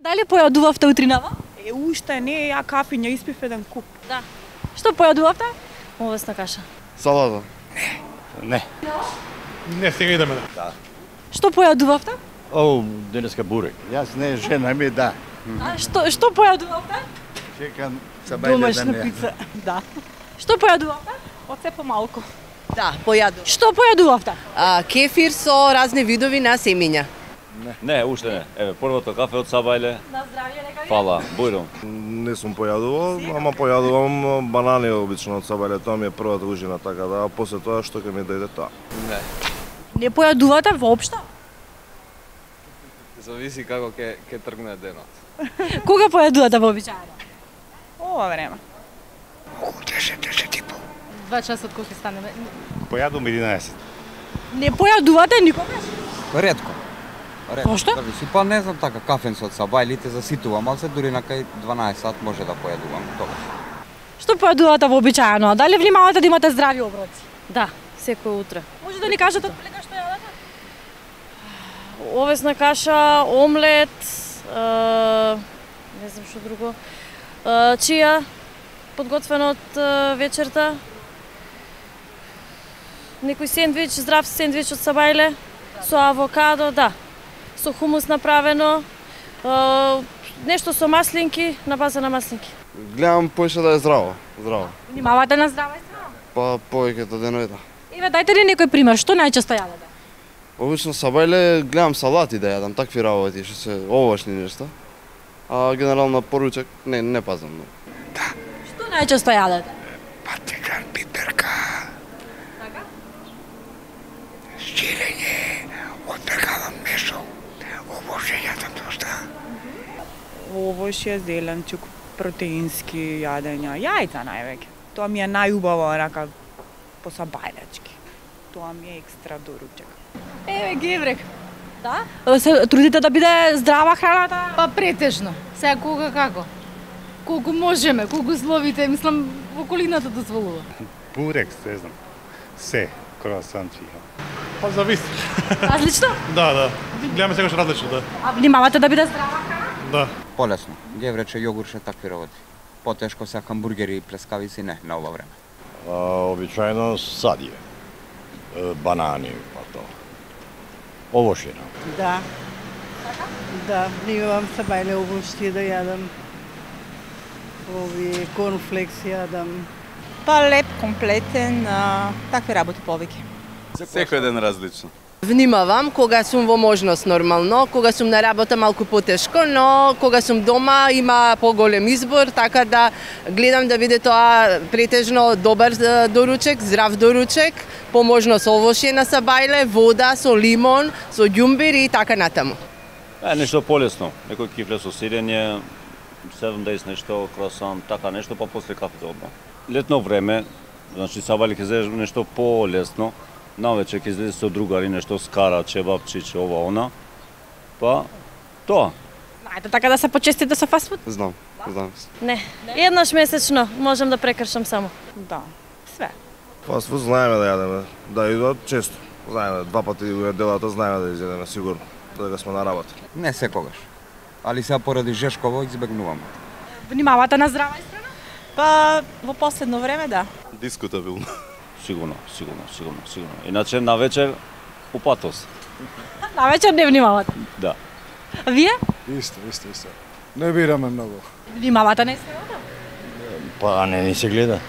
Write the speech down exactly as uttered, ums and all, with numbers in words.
Дали појадувавте утринава? Е, уште не, ја кафиња испив еден куп. Да. Што појадувавте? Овесна каша. Салата. Не. Не, сега идеме. Да. Што појадувавте? О, денеска бурек. Јас не, жена ми да. А што што појадувавте? Чекам сабајле да не. пица. Да. Што појадувавте? Оце помалку. Да, појадувам. Што појадувавте? А, кефир со разни видови на семиња. Не, уште не. Еве, првото кафе од Сабајле. На здравје, лекари. Фала, бујром. Не сум појадувал, ама појадувам банани обично од Сабајле, тоа ми е првата ужина, така да, а после тоа што ќе ми дојде тоа. Не. Не појадувате воопшто? Зависи како ќе ќе тргне денот. Кога појадувате вообичаено? Ова време. Два часа од кога ќе станеме. Појадувам единаесет. Не појадувате никогаш? Ретко. Ретко. Зошто? Зависи, па не знам така, кафен со Сабајлите заситувам, ал се дури на кај дванаесет сат може да појадувам тогаш. Што појадувате вообичаено? Дали внимавате да имате здрави оброци? Да, секој утре. Може да ни кажете отприлика што јадете? Овесна каша, омлет, е, не знам што друго, е, чија, подготвено од е, вечерта, некој сендвич, здрав сендвич од Сабајле, со авокадо, да, со хумус направено, е, нешто со маслинки, на база на маслинки. Гледам поише да е здраво, здраво. Внимавате на здраво и здраво? Па повеќето денови да. Еве, дајте ни некој пример, што најчесто јадете? Обично Сабајле гледам салати да јадам, такви работи, што се овошни нешта. А генерално поручек не не пазам многу. Што најчесто јадете? Патикан, пиперка. Така? Сирење, отпекавам месо, овошје јадам доста. Овошје, зеленчук, протеински јадења, јајца највеќе. Тоа ми е најубаво, рака, по сабајлечки. Тоа ми е екстра доручек. Еве геврек. Да? Се трудите да биде здрава храната? Па претежно. Сега кога како? Колку можеме, колку словите, мислам, околината дозволува. Бурек, не знам. Се, круасанчи. Па зависи. Различно? Да, да. Гледаме секогаш различно, да. А внимавате да биде здрава храна? Да. Полесно. Геврече, јогурче, такви работи. Потешко се хамбургери и плескавици не на ова време. А, обичајно садие. Е, банани, па тоа. Овошина. Да. Да, внимавам Сабајле овошје да јадам. Ови корнфлекс јадам. Па леп, комплетен, а, такви работи повеќе. Секој ден различно. Внимавам кога сум во можност нормално, кога сум на работа малку потешко, но кога сум дома има поголем избор, така да гледам да биде тоа претежно добар е, доручек, здрав доручек, по можност овошје на Сабајле, вода со лимон, со ѓумбир и така натаму. Е, нешто полесно. Некој кифле со сирење, седум дејс нешто, круасан, така нешто, па после кафето одма. Летно време, значи Сабајле ќе зедеш нешто полесно, навечер ќе излезе со другари, нешто скара, чебапчиче, ова, она. Па, тоа. Ајде така да се почестите со фастфуд? Знам, знам. Не, еднаш месечно можам да прекршам само. Да, све. Фастфуд знаеме да јадеме, да идат често. Знаеме, два пати во неделата знаеме да изедеме сигурно, додека сме на работа. Не секогаш. Али сега поради Жешково избегнувам. Внимавате на здрава исхрана? Па во последно време да. Дискутабилно. Сигурно, сигурно, сигурно, сигурно. Иначе на вечер упатос. На вечер не внимавате. Да. А вие? Исто, исто, исто. Не бираме многу. Внимавате на исхраната? Па не ни се гледа.